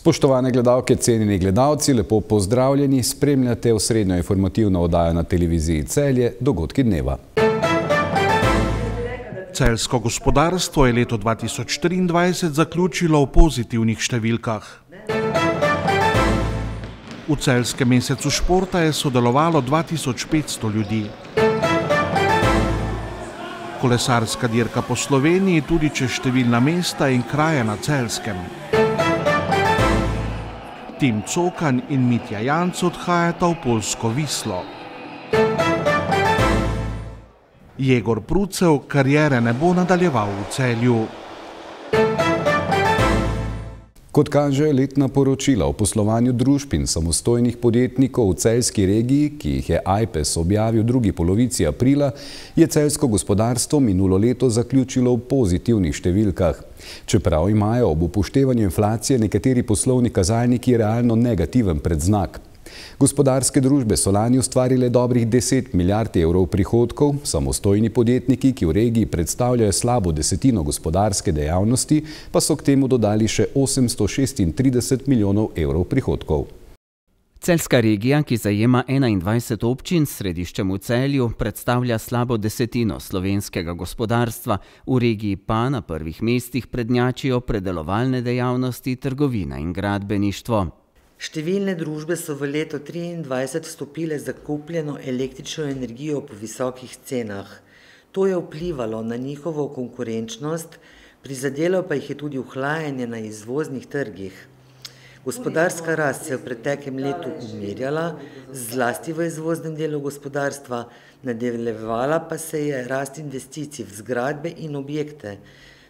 Spoštovane gledalke, cenjeni gledalci, lepo pozdravljeni, spremljate osrednjo informativno oddajo na televiziji Celje, Dogodki dneva. Celjsko gospodarstvo je leto 2023 zaključilo v pozitivnih številkah. V celjskem mesecu športa je sodelovalo 2500 ljudi. Kolesarska dirka po Sloveniji tudi čez številna mesta in kraje na Celjskem. Tim Cokan in Mitja Janc odhajata v poljsko Vislo. Jegor Prucev kariere ne bo nadaljeval v Celju. Kot kaže letna poročila o poslovanju družb in samostojnih podjetnikov v celjski regiji, ki jih je AJPES objavil v drugi polovici aprila, je celjsko gospodarstvo minulo leto zaključilo v pozitivnih številkah. Čeprav imajo ob upoštevanju inflacije nekateri poslovni kazalniki realno negativen predznak. Gospodarske družbe so lani ustvarile dobrih 10 milijard evrov prihodkov, samostojni podjetniki, ki v regiji predstavljajo slabo desetino gospodarske dejavnosti, pa so k temu dodali še 836 milijonov evrov prihodkov. Celjska regija, ki zajema 21 občin s središčem v Celju, predstavlja slabo desetino slovenskega gospodarstva, v regiji pa na prvih mestih prednjačijo predelovalne dejavnosti, trgovina in gradbeništvo. Številne družbe so v leto 2023 vstopile z zakupljeno električno energijo po visokih cenah. To je vplivalo na njihovo konkurenčnost, prizadelo pa jih je tudi ohlajanje na izvoznih trgih. Gospodarska rast se je v preteklem letu umirjala, zlasti v izvoznem delu gospodarstva, nadaljevala pa se je rast investicij v zgradbe in objekte,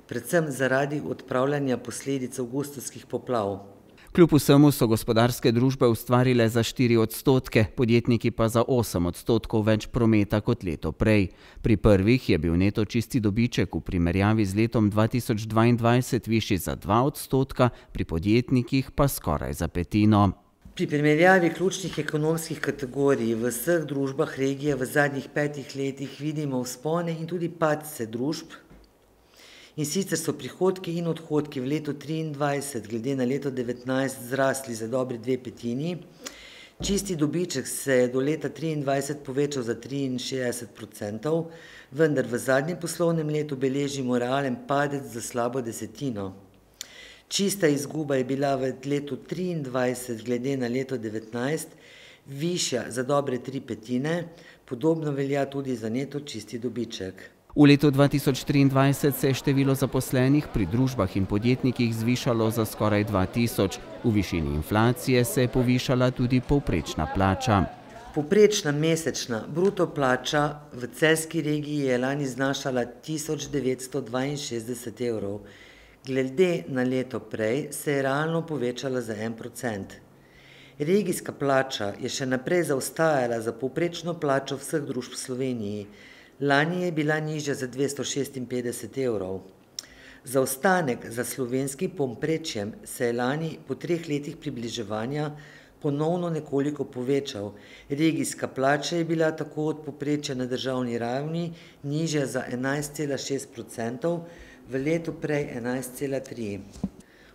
predvsem zaradi odpravljanja posledic avgustovskih poplav. Kljub vsemu so gospodarske družbe ustvarile za 4%, podjetniki pa za 8% več prometa kot leto prej. Pri prvih je bil neto čisti dobiček v primerjavi z letom 2022 višji za 2%, pri podjetnikih pa skoraj za petino. Pri primerjavi ključnih ekonomskih kategorij v vseh družbah regije v zadnjih 5 letih vidimo vzpone in tudi padce družb. In sicer so prihodki in odhodki v letu 2023 glede na leto 2019 zrasli za dobri 2/5. Čisti dobiček se je do leta 2023 povečal za 63%, vendar v zadnjem poslovnem letu beležimo realen padec za slabo desetino. Čista izguba je bila v letu 2023 glede na leto 2019 višja za dobre 3/5, podobno velja tudi za neto čisti dobiček. V letu 2023 se je število zaposlenih pri družbah in podjetnikih zvišalo za skoraj 2000. V višini inflacije se je povišala tudi povprečna plača. Povprečna mesečna bruto plača v celjski regiji je lani znašala 1962 evrov. Glede na leto prej se je realno povečala za 1%. Regijska plača je še naprej zaostajala za povprečno plačo vseh družb v Sloveniji. Lani je bila nižja za 256 evrov. Zaostanek za slovenskim povprečjem se je lani po 3 letih približevanja ponovno nekoliko povečal. Regijska plača je bila tako od povprečja na državni ravni nižja za 11,6%, v letu prej 11,3%.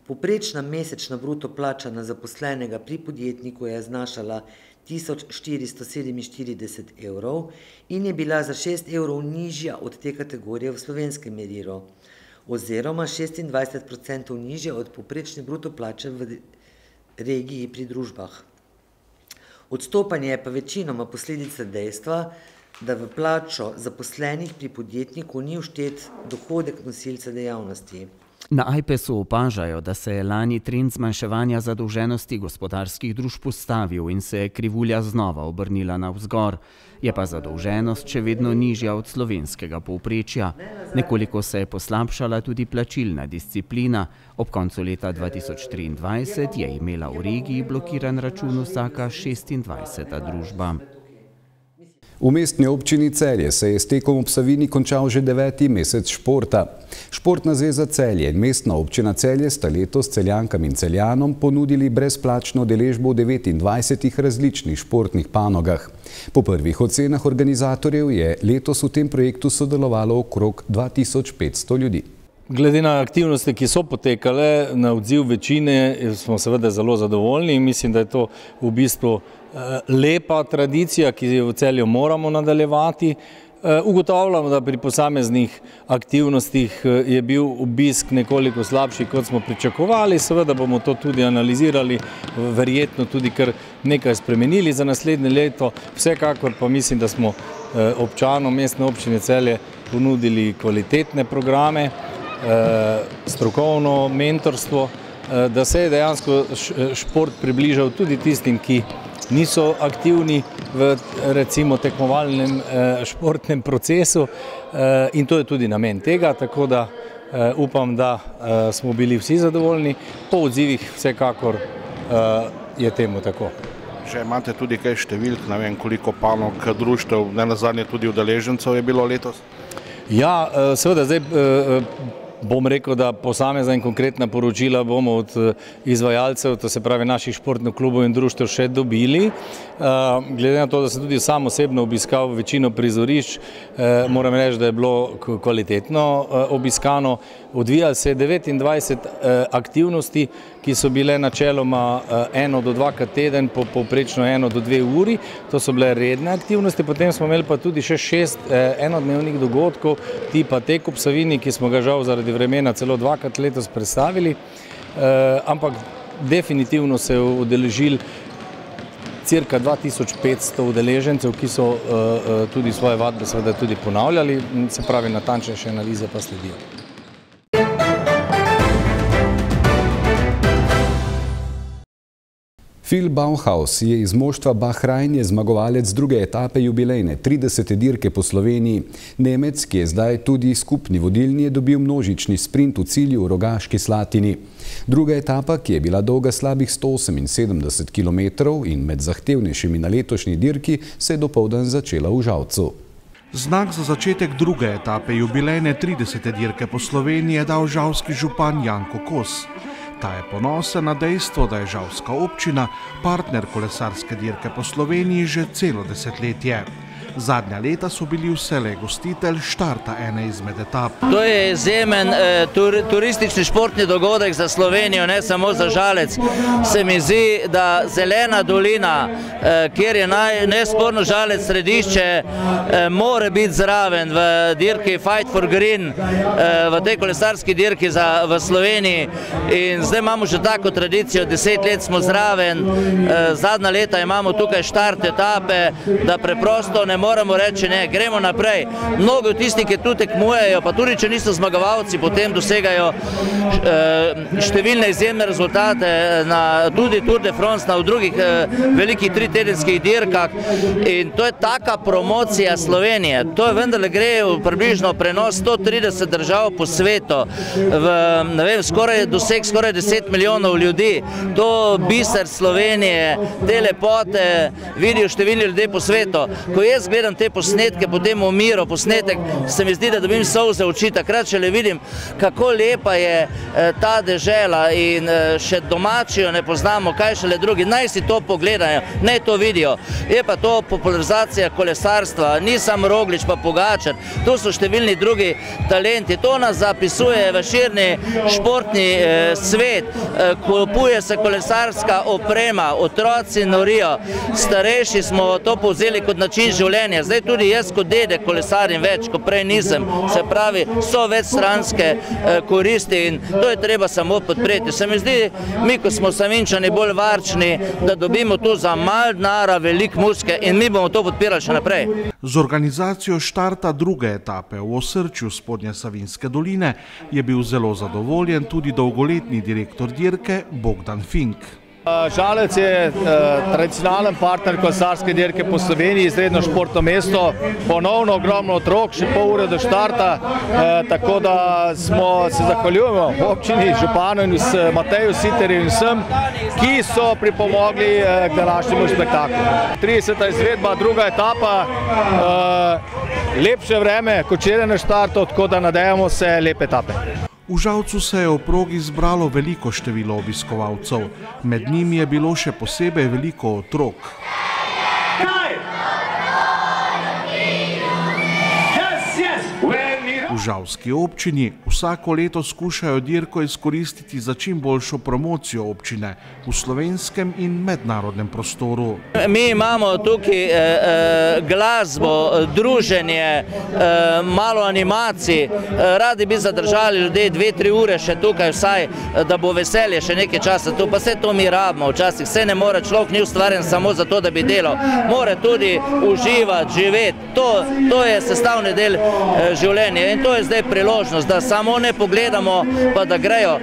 Povprečna mesečna bruto plača na zaposlenega pri podjetniku je znašala 1447 evrov in je bila za 6 evrov nižja od te kategorije v slovenskem merilu, oziroma 26% nižja od povprečne bruto plače v regiji pri družbah. Odstopanje je pa večinoma posledica dejstva, da v plačo zaposlenih pri podjetniku ni vštet dohodek nosilca dejavnosti. Na AJPES-u opažajo, da se je lani trend zmanjševanja zadolženosti gospodarskih družb ustavil in se je krivulja znova obrnila navzgor. Je pa zadolženost še vedno nižja od slovenskega povprečja. Nekoliko se je poslabšala tudi plačilna disciplina. Ob koncu leta 2023 je imela v regiji blokiran račun vsaka 26. družba. V mestni občini Celje se je s tekom ob Savinji končal že 9. mesec športa. Športna zveza Celje in mestna občina Celje sta letos Celjankam in Celjanom ponudili brezplačno udeležbo v 29 različnih športnih panogah. Po prvih ocenah organizatorjev je letos v tem projektu sodelovalo okrog 2500 ljudi. Glede na aktivnosti, ki so potekale, na odziv večine, smo seveda zelo zadovoljni in mislim, da je to v bistvu lepa tradicija, ki jo v Celju moramo nadaljevati. Ugotavljamo, da pri posameznih aktivnostih je bil obisk nekoliko slabši, kot smo pričakovali. Seveda bomo to tudi analizirali, verjetno tudi kar nekaj spremenili za naslednje leto. Vsekakor pa mislim, da smo občanom Mestne občine Celje ponudili kvalitetne programe, strokovno mentorstvo, da se je dejansko šport približal tudi tistim, ki niso aktivni v recimo tekmovalnem športnem procesu in to je tudi namen tega, tako da upam, da smo bili vsi zadovoljni. Po odzivih vsekakor je temu tako. Že imate tudi kaj številk, ne vem koliko panog, društev, ne nazadnje tudi udeležencev je bilo letos? Ja, seveda zdaj bom rekel, da posamezna in konkretna poročila bomo od izvajalcev, to se pravi naših športnih klubov in društev še dobili. Glede na to, da sem tudi sam osebno obiskal večino prizorišč, moram reči, da je bilo kvalitetno obiskano. Odvijalo se je 29 aktivnosti, ki so bile načeloma 1 do 2krat teden, povprečno 1 do 2 uri. To so bile redne aktivnosti, potem smo imeli pa tudi še 6 enodnevnih dogodkov, tipa tek ob Savinji, ki smo ga žal zaradi vremena celo 2krat letos predstavili, ampak definitivno se je udeležili cirka 2500 udeležencev, ki so tudi svoje vadbe seveda tudi ponavljali, se pravi natančnejše analize pa sledijo. Phil Bauhaus je iz moštva Bahrain zmagovalec druge etape jubilejne 30. dirke po Sloveniji. Nemec, ki je zdaj tudi skupni vodilni, je dobil množični sprint v cilju v Rogaški Slatini. Druga etapa, ki je bila dolga slabih 178 km in med zahtevnejšimi na letošnji dirki, se je dopoldan začela v Žalcu. Znak za začetek druge etape jubilejne 30. dirke po Sloveniji je dal žalski župan Janko Kos. Ta je ponosen na dejstvo, da je žalska občina partner kolesarske dirke po Sloveniji že celo desetletje. Zadnja leta so bili vselej gostitelj štarta ene izmed etap. To je izjemen turistični športni dogodek za Slovenijo, ne samo za Žalec. Se mi zdi, da Zelena dolina, kjer je nesporno Žalec središče, mora biti zraven v dirki Fight for Green, v tej kolesarski dirki v Sloveniji. In zdaj imamo že tako tradicijo, 10 let smo zraven, zadnja leta imamo tukaj štart etape, da preprosto ne moramo reči, ne, gremo naprej. Mnogo tisti, ki tu tekmujejo, pa tudi če niso zmagovalci, potem dosegajo številne izjemne rezultate na tudi Tour de France, na drugih velikih tritedenskih dirkah. In to je taka promocija Slovenije. To je vendarle gre približno prenos 130 držav po svetu, doseg skoraj 10 milijonov ljudi. To biser Slovenije, te lepote vidijo številni ljudje po svetu. Ko jaz gledam te posnetke, potem umiro posnetek, se mi zdi, da dobim solze v oči, takrat šele vidim, kako lepa je ta dežela in še domači jo ne poznamo, kaj šele drugi. Naj si to pogledajo, naj to vidijo. Je pa to popularizacija kolesarstva, ni samo Roglič pa Pogačar, to so številni drugi talenti. To nas zapisuje v širni športni svet, kupuje se kolesarska oprema, otroci norijo, starejši smo to povzeli kot način življenja. Zdaj tudi jaz kot dedek kolesarim več, kot prej nisem. Se pravi, so večstranske koristi in to je treba samo podpreti. Se mi zdi, mi, ko smo Savinjčani bolj varčni, da dobimo tu za malo denarja veliko muske in mi bomo to podpirali še naprej. Z organizacijo štarta druge etape v osrčju Spodnje Savinjske doline je bil zelo zadovoljen tudi dolgoletni direktor dirke Bogdan Fink. Žalec je tradicionalen partner kolesarske dirke po Sloveniji, izredno športno mesto, ponovno ogromno otrok, še pol ure do štarta, tako da se zahvaljujemo občini, županu in Mateju Siterju in vsem, ki so pripomogli k današnjemu spektaklu. 30. izvedba, druga etapa, lepše vreme kot včeraj na štartu, tako da nadejamo se lepe etape. V Žalcu se je v progi zbralo veliko število obiskovalcev, med njimi je bilo še posebej veliko otrok. V V žalski občini vsako leto skušajo dirko izkoristiti za čim boljšo promocijo občine v slovenskem in mednarodnem prostoru. Mi imamo tukaj glasbo, druženje, malo animacij. Radi bi zadržali ljudi 2-3 ure še tukaj vsaj, da bo veselje še nekaj časa tu. Pa vse to mi rabimo včasih. Vse ne more, človek ni ustvarjen samo zato, da bi delal. More tudi uživati, živeti. To je sestavni del življenja in to je zdaj priložnost, da samo ne pogledamo, pa da grejo.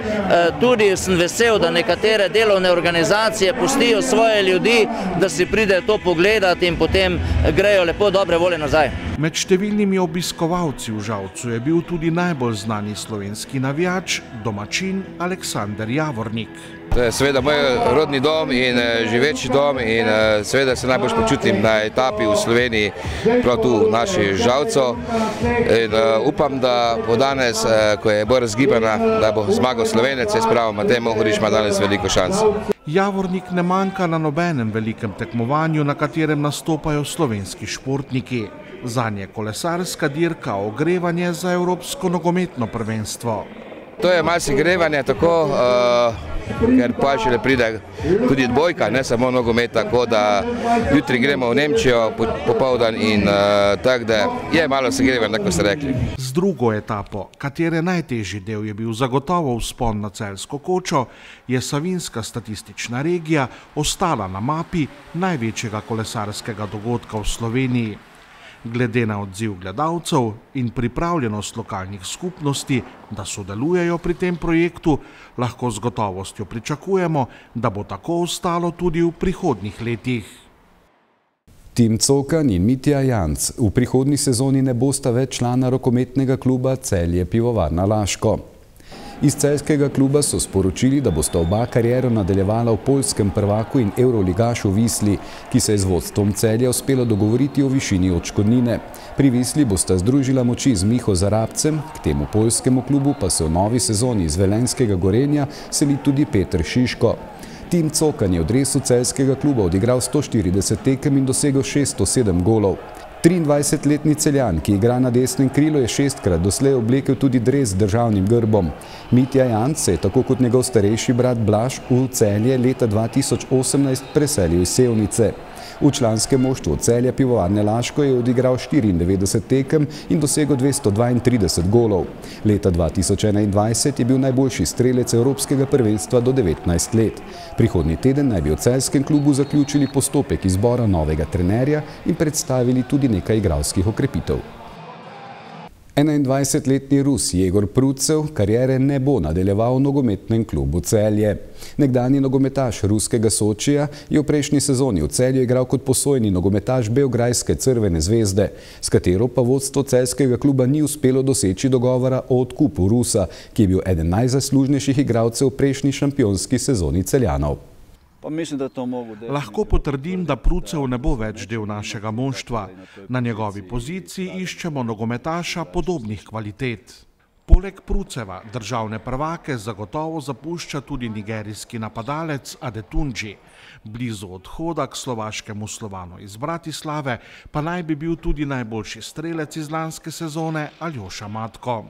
Tudi sem vesel, da nekatere delovne organizacije pustijo svoje ljudi, da si pridejo to pogledati in potem grejo lepo dobre volje nazaj. Med številnimi obiskovalci v Žalcu je bil tudi najbolj znani slovenski navijač, domačin Aleksander Javornik. To je seveda moj rodni dom in živeči dom in seveda se najbolj počutim na etapi v Sloveniji, prav tu v naši Žalcu. In upam, da bo danes, ko je bolj razgibana, da bo zmagal Slovenec, jaz pravim, Matej Mohorič ima danes veliko šans. Javornik ne manjka na nobenem velikem tekmovanju, na katerem nastopajo slovenski športniki. Zanje kolesarska dirka ogrevanje za evropsko nogometno prvenstvo. To je malo segrevanje, tako, ker pa šele pride tudi dvojka, ne samo nogomet, tako da jutri gremo v Nemčijo popoldan in tako da je malo segrevanje, tako ste rekli. Z drugo etapo, katere najtežji del je bil zagotovo vzpon na Celjsko kočo, je Savinjska statistična regija ostala na mapi največjega kolesarskega dogodka v Sloveniji. Glede na odziv gledalcev in pripravljenost lokalnih skupnosti, da sodelujejo pri tem projektu, lahko z gotovostjo pričakujemo, da bo tako ostalo tudi v prihodnjih letih. Tim Cokan in Mitja Janc v prihodnji sezoni ne bosta več člana rokometnega kluba Celje Pivovarna Laško. Iz celjskega kluba so sporočili, da bosta oba kariero nadaljevala v poljskem prvaku in evroligašu Visli, ki se je z vodstvom Celja uspelo dogovoriti o višini odškodnine. Pri Visli bosta združila moči z Miho Zarabcem, k temu poljskemu klubu pa se v novi sezoni iz velenjskega Gorenja seli tudi Peter Šiško. Tim Cokan je v dresu celjskega kluba odigral 140 tekem in dosegel 607 golov. 23-letni Celjan, ki igra na desnem krilu, je 6-krat doslej oblekel tudi dres z državnim grbom. Mitja Janc se je, tako kot njegov starejši brat Blaž, v Celje leta 2018 preselil iz Sevnice. V članskem moštvu Celja Pivovarne Laško je odigral 94 tekem in dosegel 232 golov. Leta 2021 je bil najboljši strelec evropskega prvenstva do 19 let. Prihodnji teden naj bi v celjskem klubu zaključili postopek izbora novega trenerja in predstavili tudi nekaj igralskih okrepitev. 21-letni Rus Jegor Prucev kariere ne bo nadaljeval v nogometnem klubu Celje. Nekdanji nogometaš ruskega Sočija je v prejšnji sezoni v Celju igral kot posojeni nogometaš Beograjske Crvene zvezde, s katero pa vodstvo celjskega kluba ni uspelo doseči dogovora o odkupu Rusa, ki je bil eden najzaslužnejših igralcev v prejšnji šampionski sezoni Celjanov. Lahko potrdim, da Prucev ne bo več del našega moštva. Na njegovi poziciji iščemo nogometaša podobnih kvalitet. Poleg Pruceva državne prvake zagotovo zapušča tudi nigerijski napadalec Adetunji. Blizu odhoda k slovaškemu Slovanu iz Bratislave pa naj bi bil tudi najboljši strelec iz lanske sezone Aljoša Matko.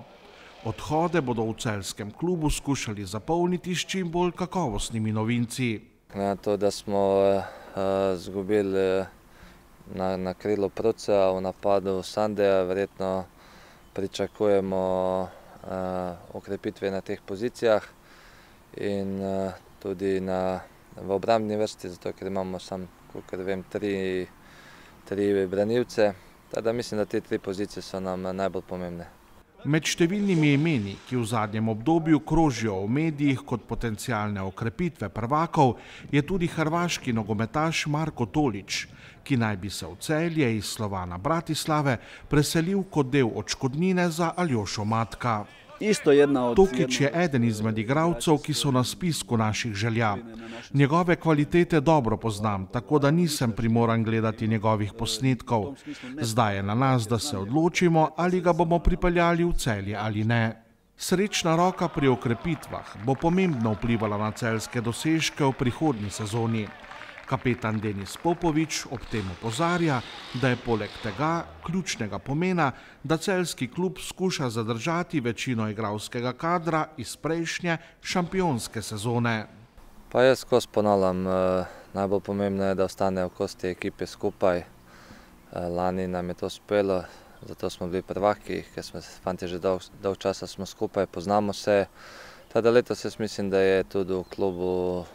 Odhode bodo v celjskem klubu skušali zapolniti s čim bolj kakovostnimi novinci. Na to, da smo izgubili na krilu Pruceva, v napadu Sandeja, verjetno pričakujemo okrepitve na teh pozicijah in tudi v obrambni vrsti, zato ker imamo samo, kolikor vem, tri branilce. Tako da mislim, da te 3 pozicije so nam najbolj pomembne. Med številnimi imeni, ki v zadnjem obdobju krožijo v medijih kot potencialne okrepitve prvakov, je tudi hrvaški nogometaš Marko Tolić, ki naj bi se v Celje iz Slovana Bratislave preselil kot del odškodnine za Aljošo Matka. Tokić je eden izmed igralcev, ki so na spisku naših želja. Njegove kvalitete dobro poznam, tako da nisem primoran gledati njegovih posnetkov. Zdaj je na nas, da se odločimo, ali ga bomo pripeljali v Celje ali ne. Srečna roka pri okrepitvah bo pomembno vplivala na celjske dosežke v prihodnji sezoni. Kapetan Denis Popovič ob tem opozarja, da je poleg tega ključnega pomena, da celjski klub skuša zadržati večino igralskega kadra iz prejšnje šampionske sezone. Pa jaz skozi ponavljam, najbolj pomembno je, da ostanejo kosti ekipe skupaj. Lani nam je to uspelo, zato smo bili prvaki, ker smo fanti že dolgo časa smo skupaj, poznamo se. Tada letos jaz mislim, da je tudi v klubu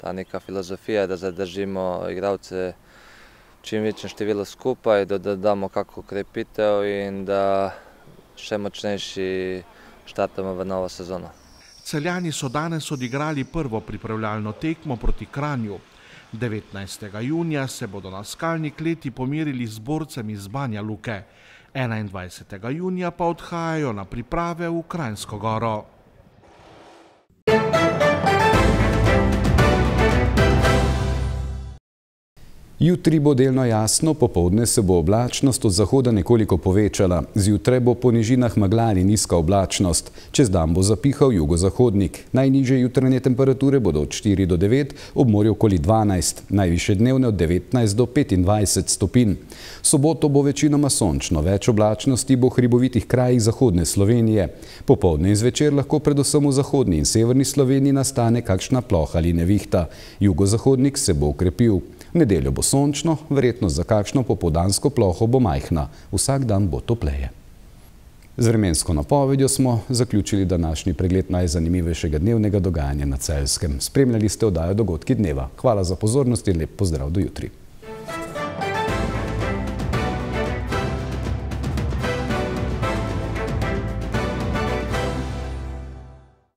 ta neka filozofija, da zadržimo igralce čim večjem številu skupaj, da dodamo kako krepitev in da še močnejši štartamo v novo sezono. Celjani so danes odigrali prvo pripravljalno tekmo proti Kranju. 19. junija se bodo na Skalni kleti pomerili z borcem iz Banja Luke. 21. junija pa odhajajo na priprave v Kranjsko Goro. Jutri bo delno jasno, popoldne se bo oblačnost od zahoda nekoliko povečala. Zjutraj bo po nižinah megla ali nizka oblačnost. Čez dan bo zapihal jugozahodnik. Najnižje jutranje temperature bodo od 4 do 9, ob morju okoli 12, najvišje dnevne od 19 do 25 stopinj. Soboto bo večinoma sončno, več oblačnosti bo v hribovitih krajih zahodne Slovenije. Popoldne in zvečer lahko predvsem v zahodni in severni Sloveniji nastane kakšna ploha ali nevihta. Jugozahodnik se bo okrepil. V nedeljo bo sončno, verjetnost za kakšno popoldansko ploho bo majhna. Vsak dan bo topleje. Z vremensko napovedjo smo zaključili današnji pregled najzanimivejšega dnevnega dogajanja na Celjskem. Spremljali ste oddajo Dogodki dneva. Hvala za pozornost in lep pozdrav do jutri.